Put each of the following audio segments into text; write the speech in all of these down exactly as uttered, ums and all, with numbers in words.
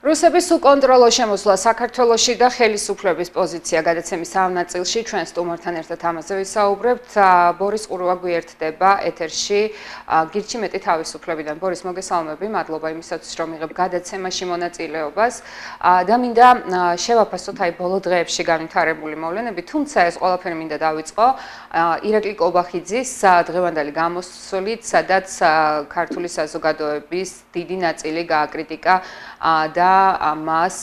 რუსების უკონტროლო შემოსვლა საქართველოში და ხელისუფლების პოზიცია გადაცემის ამ ნაწილში ჩვენ სტუმართან ერთად ამაზე ვისაუბრებთ. ბორის ყურვა გვერდება ეთერში გირჩი მეტი თავისუფლებიდან. ბორის, მოგესალმები, მადლობა იმისათვის, რომ იღებ გადაცემაში მონაწილეობას და მინდა შევაფასოთ აი ბოლო დღეებში განვითარებული მოვლენები, თუმცა ეს ყველაფერი მინდა დავიწყო ირაკლი კობახიძის დღევანდელი გამოსვლით, სადაც ქართული საზოგადოების დიდი ნაწილი გააკრიტიკა და მას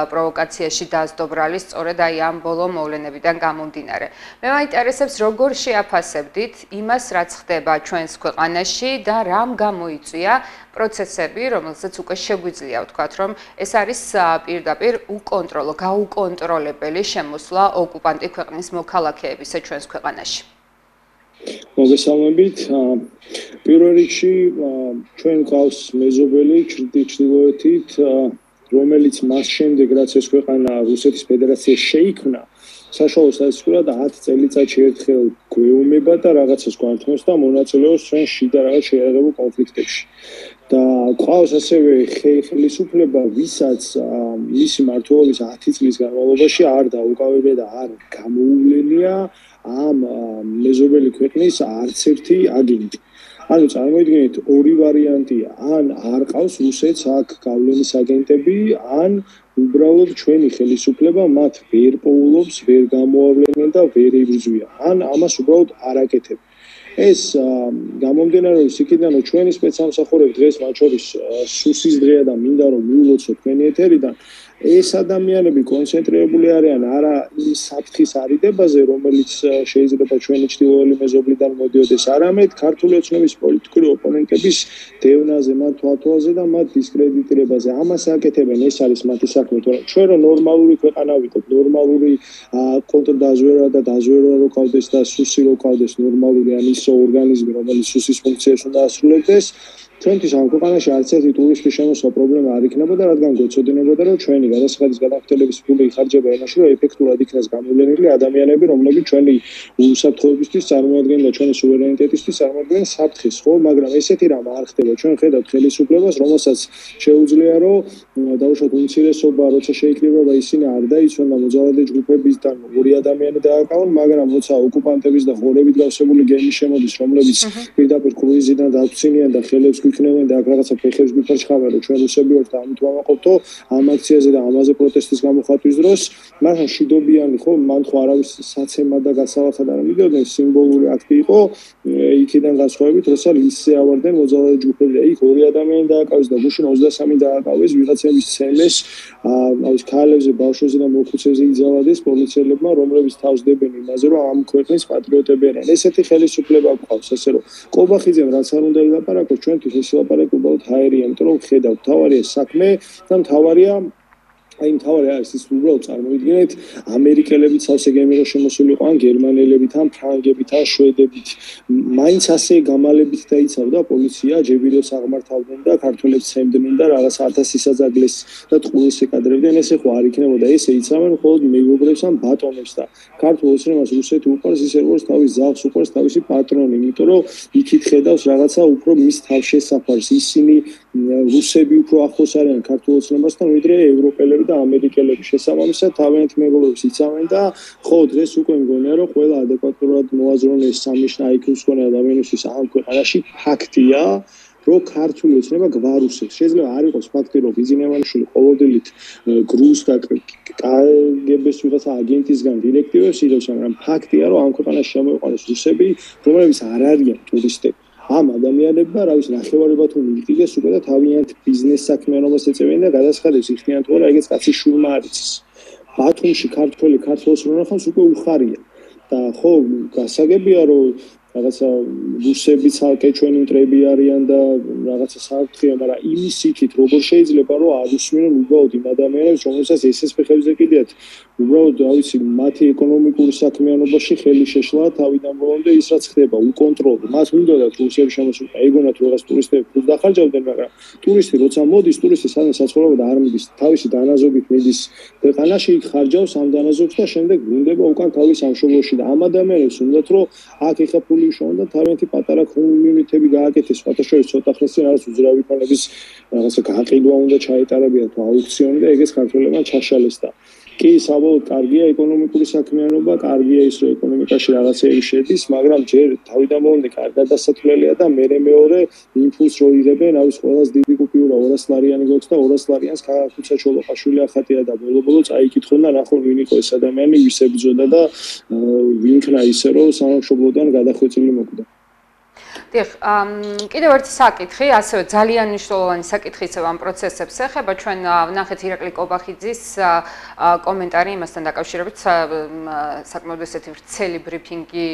პროვოკაციაში დასდობრალი სწორედ აი ამ ბოლო მოვლენებიდან გამომდინარე. მე მაინტერესებს, როგორ შეაფასებდით იმას, რაც ხდება ჩვენს ქვეყანაში და რამ გამოიწვია პროცესები, რომელსაც უკვე შეგვიძლია ვთქვათ, რომ ეს არის პირდაპირ უკონტროლო, გაუკონტროლებელი შემოსვლა ოკუპანტი ქვეყნის მოქალაქეებისა ჩვენს ქვეყანაში. მოგესალმებით. პირველ რიგში ჩვენ გვყავს მეზობელი ჩრდილოეთით, რომელიც მას შემდეგ, რაც ეს ქვეყანა რუსეთის ფედერაცია შეიქმნა, საშუალო სტატისტიკურად ათი წელიწადში ერთხელ გვეუბნება და რაღაცას გვართმევს და მონაწილეობს ჩვენ შიდა რაღაც შეიარაღებულ კონფლიქტებში. და გვყავს ასევე ხელისუფლება, ვისაც მისი მმართველობის ათი წლის განმავლობაში არ დაუკავებია და არ გამოუვლენია ამ მეზობელი ქვეყნის არც ერთი აგენტი. ანუ წარმოიდგინეთ, ორი ვარიანტია: ან არ ყავს რუსეთს აქ გავლენის აგენტები, ან უბრალოდ ჩვენი ხელისუფლება მათ ვერ პოულობს, ვერ გამოავლენენ და ვერ იბრძვიან. ან ამას უბრალოდ არ აკეთებ. ეს გამომდინარეობს იქიდან, რომ ჩვენი სპეცსამსახურები დღეს მათ შორის სუსის დღეა და მინდა რომ მიულოცოთ თქვენი ეთერიდან. ეს ადამიანები კონცენტრირებული არიან არა იმ საფრთხის არიდებაზე, რომელიც შეიძლება ჩვენი ჩრდილოელი მეზობლიდან მოდიოდეს, არამედ ქართული ოცნების პოლიტიკური ოპონენტების დევნაზე, მათ თვალთვალზე და მათ დისკრედიტირებაზე. ამას აკეთებენ, ეს არის მათი საქმე, თორემ ჩვენ რომ ნორმალური ქვეყანა ვიყოთ, ნორმალური კონტრდაზვერვა და დაზვერვა რო ყავდეს და სუსი რო ყავდეს, ნორმალური ან ისო ორგანიზმი, რომელიც სუსის ფუნქციას უნდა ასრულებდეს, ჩვენთვის ამ ქვეყანაში არც ერთი ტურისტის შემოსვლა პრობლემა არ იქნებოდა, რადგან გვეცოდინებოდა, რომ ჩვენი გადასახადის გადახდელების ფული იხარჯება ენაში, რომ ეფექტურად იქნას გამოვლენილი ადამიანები, რომლებიც ჩვენი უსაფრთხოებისთვის წარმოადგენენ და ჩვენი სუვერენიტეტისთვის წარმოადგენენ საფრთხეს, ხო? მაგრამ ესეთი რამ არ ხდება. ჩვენ ხედავთ ხელისუფლებას, რომელსაც შეუძლია, რომ დაუშვათ უმცირესობა, როცა შეიკრიბება, ისინი არ დაიცვან და მოძალადე ჯგუფებისგან ორი ადამიანი დააკავონ, მაგრამ როცა ოკუპანტების და ღორებით გავსებული გემი შემოდის, რომლებიც პირდაპირ კრუიზიდან დაცინიან და ხელებს იქნებენ და აქ რაღაცა ფეხებს გიფარჩხავენ, რომ ჩვენ რუსები ვართ და ამით ვამაყობთო ამ აქციაზე და ამაზე პროტესტის გამოხატვის დროს, მაგრამ შიდობიანი ხო, მან ხო არავის საცემა და გასალახად არ მიდოდნენ, სიმბოლური აქტი იყო, იქიდან განსხვავებით, როცა ლისზე ავარდნენ მოძალადე ჯგუფები და იქ ორი ადამიანი დააკავეს და გუშინ ოცდასამი დააკავეს ვიღაცების ცემეს, აი ქალებზე, ბავშვებზე და მოხუცებზე იძლავდეს პოლიციელებმა, რომლებიც თავს დებენ იმაზე, რომ ამ ქვეყნის პატრიოტები არიან. ესეთი ხელისუფლება გვყავს, ასე რომ კობახიძემ რაც არ უნდა ილაპარაკოს, ჩვენთვის ეს ლაპარაკი უბრალოდ ჰაერია, იმიტომ რომ ხედავთ, თავარია საქმე და თავარია აი თავარი არის ის უბრალოდ წარმოიდგინეთ, ამერიკელები ცალსე გემირო შემოსულიყო, ან გერმანელებიც, ან ფრანგებით, ან შვედებით, მაინც ასე გამალებით დაიცავდა პოლიცია, ჯებირებს აღმართავდნენ და ქართველებს ცემდნენ და რაღაც ათასი საძაგლეს და ტყუილს ეკადრებდნენ, ესე ხო არ იქნებოდა, ესე იცავენ მხოლოდ მეგობრებს ან ბატონებს და ქართულ ოცნებას რუსეთი უყვარს, ისე როგორც თავის ძაღლს უყვარს თავისი პატრონი, იმიტომ რომ იქით ხედავს რაღაცა უფრო მის თავშესაფარს, ისინი რუსები უფრო ახლოს არიან ქართულ ოცნებასთან, ვიდრე ევროპელები და ამერიკელები. შესაბამისად თავიანთ მეგობრებს იცავენ და ხო დღეს უკვე მგონია, რომ ყველა ადეკვატურად მოაზროვნეს სამნიშნა აი ქიუს მქონე ადამიანისთვის ამ ქვეყანაში ფაქტია, რომ ქართული ოცნება გვარუსებს. შეიძლება არ იყოს ფაქტი, რომ ბიზნესმენები ყოველდღიურად გრუს და კგბ-ს ვიღაცა აგენტისგან დირექტივებს იღებს, მაგრამ ფაქტია, რომ ამ ქვეყანაში შემოიყვანეს რუსები, რომლებიც არ არიან ტურისტები. ამ ადამიანებმა, რა ვიცი, ნახევარი თუ მიიღეს უკვე და თავიანთ ბიზნეს საქმიანობას ეწევიან და გადასახადებს იხდიან, თორე ეგეც კაცი შურმა არ იცის. ბათუმში ქართველი ქართველს რო ნახავს უკვე უხარია. და ხო, გასაგებია, რომ რაღაცა რუსები ცალკე ჩვენი მტრები არიან და რაღაცა საფრთხეა, მაგრამ იმის იქით როგორ შეიძლება რომ არ უსმენონ უბრალოდ იმ ადამიანებს, რომელსაც ესეს ფეხებზე კიდიათ, უბრალოდ რა ვიცი, მათი ეკონომიკური საქმიანობაში ხელი შეშლა თავიდან ბოლომდე ის რაც ხდება, უკონტროლო. მას მინდოდათ რუსები შემოსულიყო, ეგონათ რომ რაღაც ტურისტები ფულს დახარჯავდნენ, მაგრამ ტურისტი როცა მოდის, ტურისტი სადღაც საცხოვრებლად არ მიდის, თავისი დანაზოგით მიდის ქვეყანაში, იქ ხარჯავს ამ დანაზოგს და შემდეგ ბრუნდება უკან თავის სამშობლოში და ამ ადამიანებს უნდათ რომ აქ ეხა ფული ქართული უშოვან და თავიანთი პატარა კომუნიტები გააკეთეს, სხვათა შორის ცოტა ხნის წინ არის უძრავი ფონების რაღაცა გაყიდვა უნდა ჩაეტარებიათ თუ აუქციონი და ეგეც ქართველებმა ჩაშალეს და კი საბოლოოდ კარგია ეკონომიკური საქმიანობა, კარგია ის რომ ეკონომიკაში რაღაცები შედის, მაგრამ ჯერ თავიდან მომდე კარგად დასათვლელია და მერე მეორე იმპულს რო იღებენ, არის ყველას დიდი კუპიურა ორას ლარიანი გვაქვს და ორას ლარიანს ქუცა ჩოლოყაშვილი ახატია და ბოლო-ბოლო წაიკითხონ და ნახონ ვინ იყო ეს ადამიანი, ვის ებრძოდა და ვინ ქნა ისე რომ სამშობლოდან გადახვეწილი მოკვდა. დიახ, კიდევ ერთი საკითხი, ასევე ძალიან მნიშვნელოვანი საკითხი ისევ ამ პროცესებს ეხება. ჩვენ ვნახეთ ირაკლი კობახიძის კომენტარი იმასთან დაკავშირებით, საკმაოდ ესეთი ვრცელი ბრიფინგი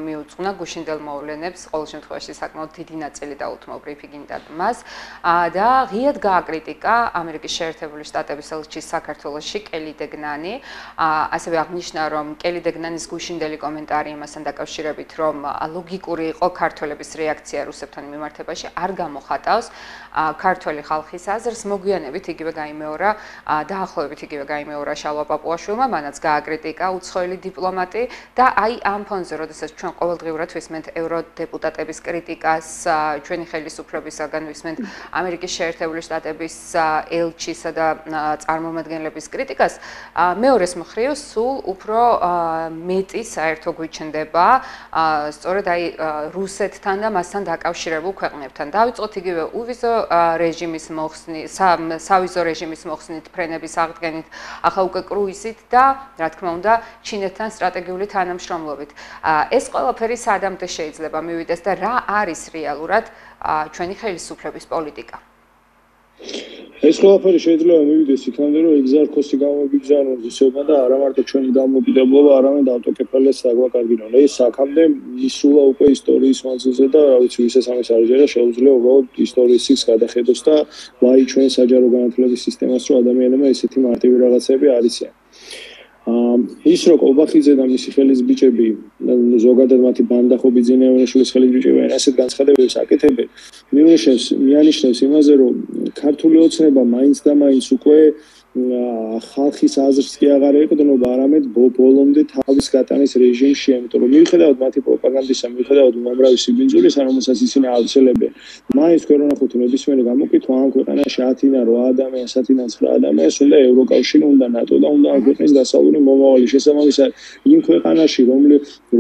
მიუძღვნა გუშინდელ მოვლენებს, ყოველ შემთხვევაში საკმაოდ დიდი ნაწილი დაუთმო ბრიფინგიდან მას და ღიად გააკრიტიკა ამერიკის შეერთებული შტატების ელჩი საქართველოში კელი დეგნანი, ასევე აღნიშნა, რომ კელი დეგნანის გუშინდელი კომენტარი იმასთან დაკავშირებით, რომ ლოგიკური იყო ქართველების რეაქცია რუსებთან მიმართებაში არ გამოხატავს ქართველი ხალხის აზრს. მოგვიანებით იგივე გაიმეორა დაახლოებით იგივე გაიმეორა შალვა პაპუაშვილმა, მანაც გააკრიტიკა უცხოელი დიპლომატი და აი ამ ფონზე, როდესაც ჩვენ ყოველდღიურად ვისმენთ ევროდეპუტატების კრიტიკას, ჩვენი ხელისუფლებისაგან ვისმენთ ამერიკის შეერთებული შტატების ელჩისა და წარმომადგენლების კრიტიკას, მეორეს მხრივ სულ უფრო მეტი საერთო გვიჩნდება სწორედ აი რუსეთთან და მასთან დაკავშირებულ ქვეყნებთან. დავიწყოთ იგივე უვიზო რეჟიმის მოხსნით, სავიზო რეჟიმის მოხსნით, ფრენების აღდგენით, ახლა უკვე კრუიზით და რა თქმა უნდა, ჩინეთთან სტრატეგიული თანამშრომლობით. ეს ყველაფერი სადამდე შეიძლება მივიდეს და რა არის რეალურად ჩვენი ხელისუფლების პოლიტიკა? ეს ყველაფერი შეიძლება მივიდეს იქამდე, რომ ეგზარქოსი გამოგიგზავნოს ისეობა და არა მარტო ჩვენი დამოუკიდებლობა, არამედ ავტოკეფალიას დაგვაკარგინონ. ეს აქამდე მისულა უკვე ისტორიის მანძილზე და რა ვიცი, ვისაც ამის არ იჯერა, შეუძლია უბრალოდ ისტორიის სიგს გადახედოს და ვაი ჩვენ საჯარო განათლების სისტემას, რომ ადამიანებმა ესეთი მარტივი რაღაცები არ იციან. ის რო კობახიძე და მისი ხელის ბიჭები, ზოგადად მათი ბანდა ხო ბიძინეევაშვილის ხელის ბიჭები ასეთ განცხადებებს აკეთებენ, მიუნიშნებს მიანიშნებს იმაზე, რომ ქართული ოცნება მაინც და მაინც უკვე ხალხის აზრს კი აღარ ეყრდნობა, არამედ ბოლომდე თავის გატანის რეჟიმში, იმიტომ რომ მიუხედავად მათი პროპაგანდისა, მიუხედავად უამრავი სიბინძურისა, რომელსაც ისინი ავრცელებენ, მაინც თქვენ რომ ნახოთ ნებისმიერი გამოკითხვა ამ ქვეყანაში ათიდან რვა ადამიანს, ათიდან ცხრა ადამიანს უნდა ევროკავშირი, უნდა ნატო და უნდა ამ ქვეყნის დასავლური მომავალი შესაბამისად იმ ქვეყანაში,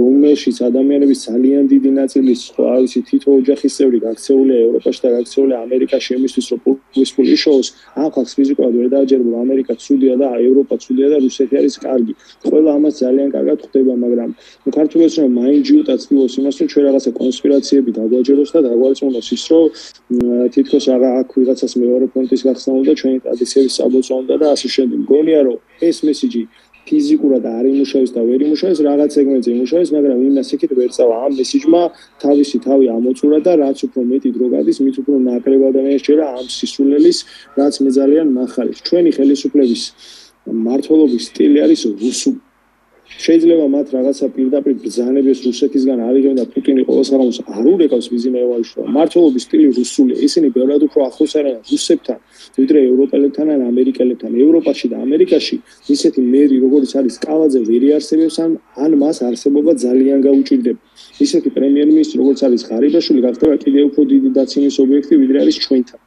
რომელშიც ადამიანების ძალიან დიდი ნაწილის, რა ვიცი, თითო ოჯახის წევრი გაქცეულია ევროპაში და გაქცეულია ამერიკაში, იმისთვის რომ პულის ფული შოუს, ამ ხალხს ფიზიკურად ვერ დააჯერებო ამერიკა ცუდია და ევროპა ცუდია და რუსეთი არის კარგი. ყველა ამას ძალიან კარგად ხვდება, მაგრამ ქართული ოცნება მაინც ჯიუტა ცდილობს იმას, რომ ჩვენ რაღაცა კონსპირაციები დაგვაჯეროს და დაგვარწმუნოს ის, რომ თითქოს არა აქ ვიღაცას მეორე ფრონტის გახსნა უნდა, ჩვენი ტრადიციების საბოლოო უნდა და ასე შემდეგ. მგონია, რომ ეს მესიჯი ფიზიკურად არ იმუშავებს და ვერ იმუშავებს, რაღაც სეგმენტზე იმუშავებს, მაგრამ იმას იქით ვერ წავა. ამ მესიჯმა თავისი თავი ამოწურა და რაც უფრო მეტი დრო გადის, მით უფრო ნაკლებად ადამიანსჯერა ამ სისულელის, რაც მე ძალიან მახარებს. ჩვენი ხელისუფლების მმართველობის სტილი არის რუსული. შეიძლება მათ რაღაცა პირდაპირ ბრძანებას რუსეთისგან არიღებენ და პუტინი ყოველს ამას არ ურეკავს ბიზნესში. მმართველობის სტილი რუსულია. ისინი ბევრად უფრო ახლოს არიან რუსებთან, ვიდრე ევროპელებთან ან ამერიკელებთან. ევროპაში და ამერიკაში ისეთი მერი, როგორც არის კალაძე, ვერ იარსებებს ან ან მას არსებობა ძალიან გაუჭირდება. ისეთი პრემიერ-მინისტრი, როგორც არის ღარიბაშვილი, გახდება კიდევ უფრო დიდი დაცემის ობიექტი, ვიდრე არის ჩვენთან.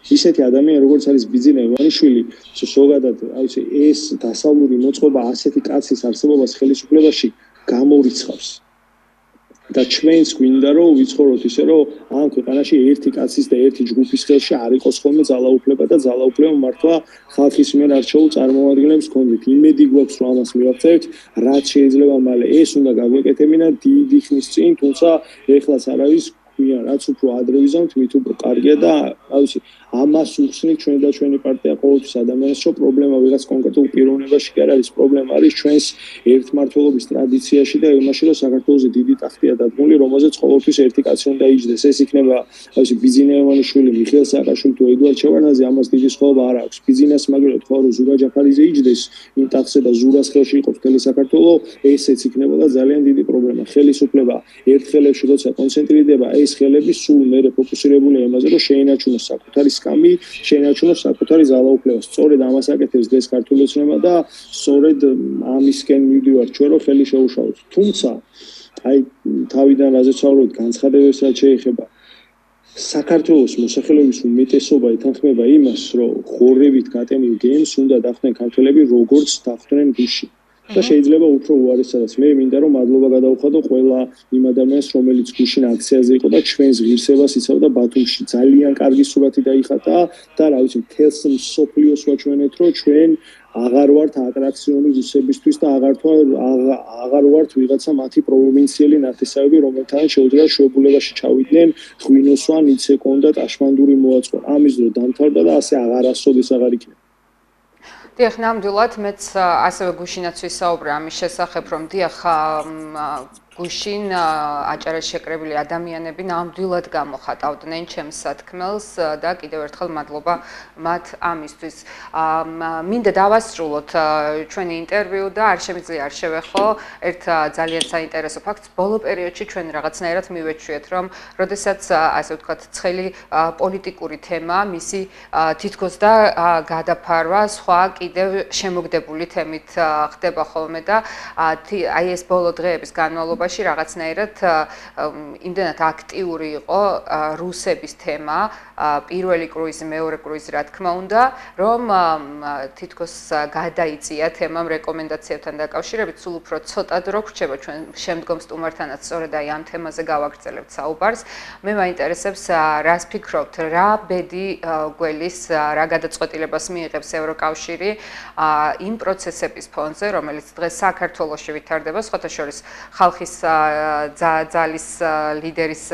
ისეთი ადამიანი, როგორც არის ბიძინა ივანიშვილი, ზოგადად, აიცი, ეს დასავლური მოწყობა ასეთი კაცის არსებობას ხელისუფლებაში გამორიცხავს. და ჩვენს გვინდა რომ ვიცხოვროთ ისე რომ ამ ქვეყანაში ერთი კაცის და ერთი ჯგუფის ხელში არ იყოს ხოლმე ძალაუფლება და ძალაუფლება მართლა ხალხის მიერ არჩეულ წარმომადგენლებს ჰქონდეთ. იმედი გვაქვს რომ ამას მივახცევთ, რაც შეიძლება მალე ეს უნდა გაგვეკეთებინა დიდი ხნის წინ, თუმცა ეხლაც არ არის ქვია, რაც უფრო ადრე ვიზამთ, მით უფრო კარგია და აიცი ამას უხსნით ჩვენ და ჩვენი პარტია ყოველთვის ადამიანს, რომ პრობლემა ვიღაც კონკრეტულ პიროვნებაში კი არ არის, პრობლემა არის ჩვენს ერთმართველობის ტრადიციაში და იმაში, რომ საქართველოს დიდი ტახტია დადგმული, რომელზეც ყოველთვის ერთი კაცი უნდა იჯდეს. ეს იქნება, აიცი, ბიძინა ივანიშვილი, მიხეილ სააკაშვილი თუ ედუარდ ჩევარდნაძე, ამას დიდი სხვაობა არ აქვს. ბიძინას მაგალითად თქვა, რომ ზურა ჯაფარიძე იჯდეს იმ ტახტზე და ზურას ხელში იყოს მთელი საქართველო, ესეც იქნებოდა ძალიან დიდი პრობლემა. ხელისუფლება ერთ ხელებში როცა კონცენტრირდება, ეს ხელები სულ მერე ფოკუსირებულია იმაზე, რომ შეინარჩუნოს საკუთარი კამი შეინარჩუნოს საკუთარი ძალაუფლება. სწორედ ამას აკეთებს დღეს ქართული ოცნება და სწორედ ამისკენ მივდივართ ჩვენ, რომ ხელი შეუშალოთ. თუმცა აი თავიდან რაზეც ვსაუბრობთ განცხადებებსაც შეეხება საქართველოს მოსახლეობის უმეტესობა ეთანხმება იმას, რომ ხორევით გატენილ გემს უნდა დახვდნენ ქართველები როგორც დახვდნენ გუშინ. და შეიძლება უფრო უარესადაც მე მინდა რომ მადლობა გადავხადო ყველა იმ ადამიანს რომელიც გუშინ აქციაზე იყო და ჩვენს ღირსებას იცავდა ბათუმში ძალიან კარგი სურათი დაიხატა და რა ვიცი მთელს მსოფლიოს ვაჩვენეთ რომ ჩვენ აღარ ვართ ატრაქციონი რუსებისთვის და აღარ აღარ ვართ ვიღაცა მათი პროვინციელი ნათესავები რომელთანაც შეუძლია შეებულებაში ჩავიდნენ ღვინოსვან იცეკონ და ტაშმანდური მოაწყო ამის დრო დამთავრდა და ასე აღარასოდეს აღარ იქნება დიახ, ნამდვილად მეც ასევე გუშინაც ვისაუბრე ამის შესახებ, რომ დიახ გუშინ აჭარაში შეკრებილი ადამიანები ნამდვილად გამოხატავდნენ ჩემს სათქმელს და კიდევ ერთხელ მადლობა მათ ამისთვის. მინდა დავასრულოთ ჩვენი ინტერვიუ და არ შემიძლია არ შევეხო ერთ ძალიან საინტერესო ფაქტს. ბოლო პერიოდში ჩვენ რაღაცნაირად მივეჩვიეთ, რომ როდესაც ასე ვთქვათ, ცხელი პოლიტიკური თემა, მისი თითქოს და გადაფარვა სხვა კიდევ შემოგდებული თემით ხდება ხოლმე და აი ეს ბოლო დღეების განმავლობაში რაღაცნაირად იმდენად აქტიური იყო რუსების თემა, პირველი კრუიზი, მეორე კრუიზი, რა თქმა უნდა, რომ თითქოს გადაიწია თემამ რეკომენდაციებთან დაკავშირებით, სულ უფრო ცოტა დრო გრჩება ჩვენ შემდგომ სტუმართანაც სწორედ აი ამ თემაზე გავაგრძელებთ საუბარს. მე მაინტერესებს რას ფიქრობთ, რა ბედი გველის, რა გადაწყვეტილებას მიიღებს ევროკავშირი იმ პროცესების ფონზე, რომელიც დღეს საქართველოში ვითარდება, სხვათა შორის ხალხის ძალის ლიდერის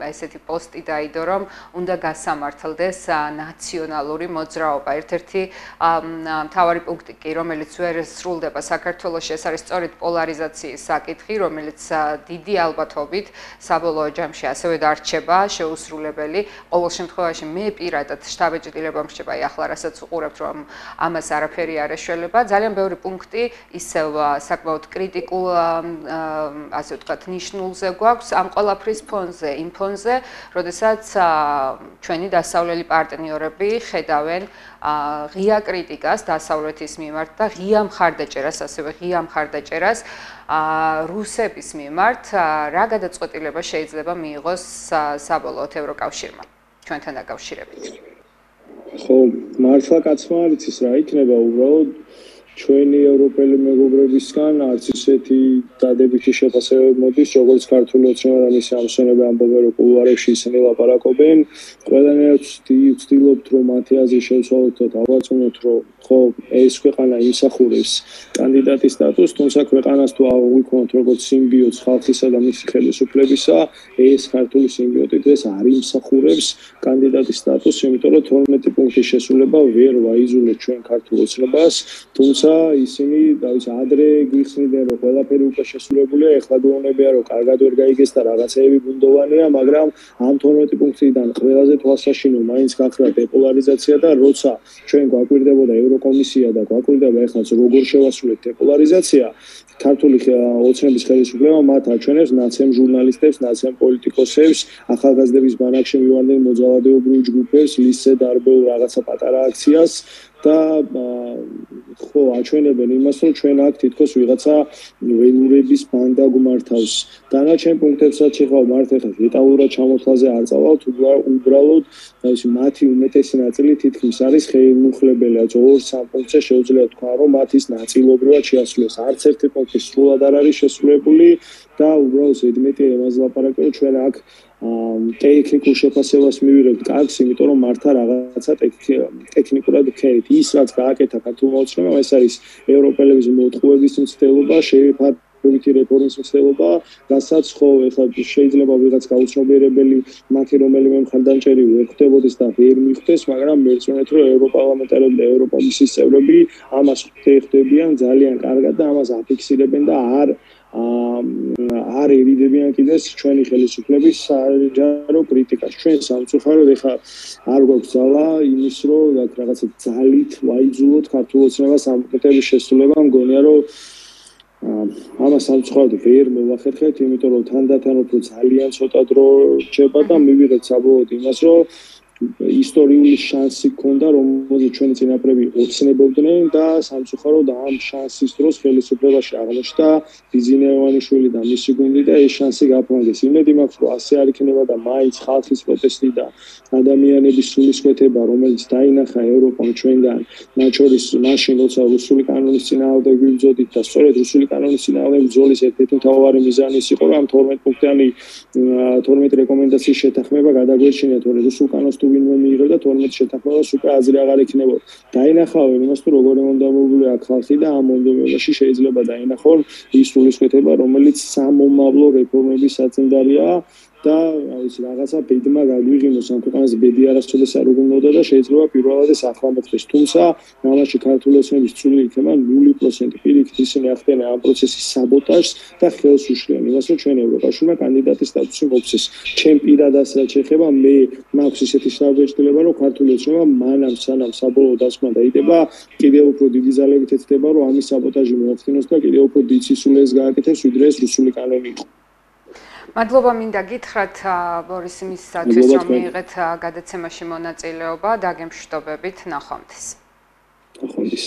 ესეთი პოსტი დაიდო, რომ უნდა გასამართლდეს ნაციონალური მოძრაობა. ერთ-ერთი მთავარი პუნქტი კი, რომელიც ვერ სრულდება საქართველოში, ეს არის სწორედ პოლარიზაციის საკითხი, რომელიც დიდი ალბათობით საბოლოო ჯამში ასევე დარჩება შეუსრულებელი. ყოველ შემთხვევაში მე პირადად შტაბ-ეჭდილება მრჩება, აი ახლა რასაც უყურებთ, რომ ამას არაფერი არ ეშველება. ძალიან ბევრი პუნქტი ისევ საკმაოდ კრიტიკულ ასე ვთქვათ, ნიშნულზე გვაქვს ამ ყველაფრის ფონზე, იმ ფონზე, როდესაც ჩვენი დასავლელი პარტნიორები ხედავენ ღია კრიტიკას დასავლეთის მიმართ და ღია მხარდაჭერას, ასევე ღია მხარდაჭერას რუსების მიმართ, რა გადაწყვეტილება შეიძლება მიიღოს საბოლოოდ ევროკავშირმა ჩვენთან დაკავშირებით. ხო, მართლა კაცმა არ იცის რა იქნება უბრალოდ ჩვენი ევროპელი მეგობრებისგან არც ისეთი დადებითი შეფასებები მოდის, როგორც ქართული ოცნებამოსილების ამსვენები ამბობენ, რომ კულუარებში ისინი ლაპარაკობენ. ყველანაირად ვცდილობთ, რომ მათი აზრი შევცვალოთ და დავაწუნოთ, რომ ხო, ეს ქვეყანა იმსახურებს კანდიდატის სტატუსს, თუმცა ქვეყანას თუ აღვიქვამთ როგორც სიმბიოტს ხალხისა და მისი ხელისუფლებისა, ეს ქართული სიმბიოტი დღეს არ იმსახურებს კანდიდატის სტატუსს, იმიტომ რომ თორმეტი პუნქტის შესრულება ვერ ვაიზულეთ ჩვენ ქართულ ოცნებას, თუმცა ისინი დავის ადრე გიხსნიდნენ რომ ყველაფერი უკვე შესრულებულია, ეხლა გვეუბნებიან რომ კარგად ვერ გაიგეს და რაღაცეები ბუნდოვანია, მაგრამ ამ თორმეტი პუნქტიდან ყველაზე თვალსაშინო მაინც გახლავთ დეპოლარიზაცია და როცა ჩვენ გვაკვირდებოდა ევროკომისია და გვაკვირდება ეხლაც როგორ შევასრულეთ დეპოლარიზაცია, ქართული ოცნების ხელისუფლება მათ აჩვენებს ნაცემ ჟურნალისტებს, ნაცემ პოლიტიკოსებს, ახალგაზრდების ბანაკში მივარდნენ მოძალადეობრივ ჯგუფებს, ლისზე დარბეულ რაღაცა პატარა აქციას და ხო აჩვენებენ იმას, რომ ჩვენ აქ თითქოს ვიღაცა ველურების ბანდა გვმართავს. დანარჩენ პუნქტებსაც შეხავ მართ ეხლა დეტალურად ჩამოთვლაზე არ წავალთ, უბრალოდ ისე მათი უმეტესი ნაწილი თითქმის არის ხელმუხლებელი. ორ სამ პუნქტზე შეუძლია თქვა, რომ მათ ის ნაწილობრივად შეასრულეს. არც ერთი პუნქტი სრულად არ არის შესრულებული და უბრალოდ ზედმეტი ემაზე ლაპარაკია, რომ ჩვენ აქ ტექნიკურ შეფასებას მივიღებთ კარგს, იმიტომ რომ მართა რაღაცა ტექნიკურად ვქერით. ის რაც გააკეთა ქართულმა ოცნებამ, ეს არის ევროპელების მოტყუების მცდელობა, შეფარებითი რეფორმის მცდელობა, რასაც ხო ეხლა შეიძლება ვიღაც გაუცნობიერებელი მათი რომელიმე მხარდამჭერი ვერ ხვდებოდეს და ვერ მიხვდეს, მაგრამ მერწმუნეთ რომ ევროპარლამენტარები და ევროკომისიის წევრები ამას ხვდებიან ძალიან კარგად და ამას აფიქსირებენ და არ არ ერიდებიან კიდეს ჩვენი ხელისუფლების საჯარო კრიტიკას. ჩვენ სამწუხაროდ ეხლა არ გვაქვს ძალა იმის, რომ რაღაცა ძალით ვაიძულოთ ქართულ ოცნებას ამ პუნქტების შესრულება. მგონია რომ ამას სამწუხაროდ ვერ მოვახერხებთ, იმიტომ რომ თანდათან უფრო ძალიან ცოტა დრო რჩება და მივიღეთ საბოლოოდ იმას, რომ ისტორიული შანსი ქონდა, რომელზეც ჩვენი წინაპრები ოცნებობდნენ და სამწუხაროდ ამ შანსის დროს ხელისუფლებაში აღმოჩნდა ბიზინე ივანიშვილი და მისი გუნდი და ეს შანსი გაფრანგეს. იმედი მაქვს, რომ ასე არ იქნება და მაინც ხალხის პროტესტი და ადამიანების სულისკვეთება, რომელიც დაინახა ევროპამ ჩვენგან, მათ შორის მაშინ, როცა რუსული კანონის წინააღმდეგ ვიბრძოდით და სწორედ რუსული კანონის წინააღმდეგ ბრძოლის ერთ-ერთი მთავარი მიზანი ის იყო, რომ ამ თორმეტ პუნქტიანი თორმეტ რეკომენდაციის შეთანხმება გადაგვეშინათ, რომ რუსულ კანონს თუ ვინმე მიიღებდა თორმეტ შეთანხმებას უკვე აზრი აღარ ექნებოდა. დაინახავენ იმას, თუ როგორი მონდომებულია აქ ხალხი და ამ მონდომებაში შეიძლება დაინახონ ის სულისკვეთება, რომელიც სამომავლო რეფორმების საწინდარია და ვიცი რაღაცა ბედმა გაგვიღიმოს ამ ქვეყანას ბედი არასოდეს არ უგუნოდა და შეიძლება პირველად ეს ახლა მოხდეს. თუმცა ამაში ქართული ოცნების წვლილი იქნება ნული პროცენტი. პირიქით ისინი ახდენენ ამ პროცესის საბოტაჟს და ხელს უშლიან იმას, რომ ჩვენ ევროპაშულმა კანდიდატის სტატუსი მოგცეს. ჩემ პირად ასე რაც შეეხება, მე მაქვს ისეთი შთაბეჭდილება, რომ ქართული ოცნება მანამ სანამ საბოლოო დასკვნა დაიდება, კიდევ უფრო დიდი ძალებით ეცდება, რომ ამის საბოტაჟი მოახდინოს და კიდევ უფრო დიდ სისულელეს გააკეთებს, ვიდრე ეს რუსული კანონი იყო. მადლობა მინდა გითხრათ ბორის იმისათვის, რომ მიიღეთ გადაცემაში მონაწილეობა და გემშვიდობებით ნახვამდის. ნახვამდის.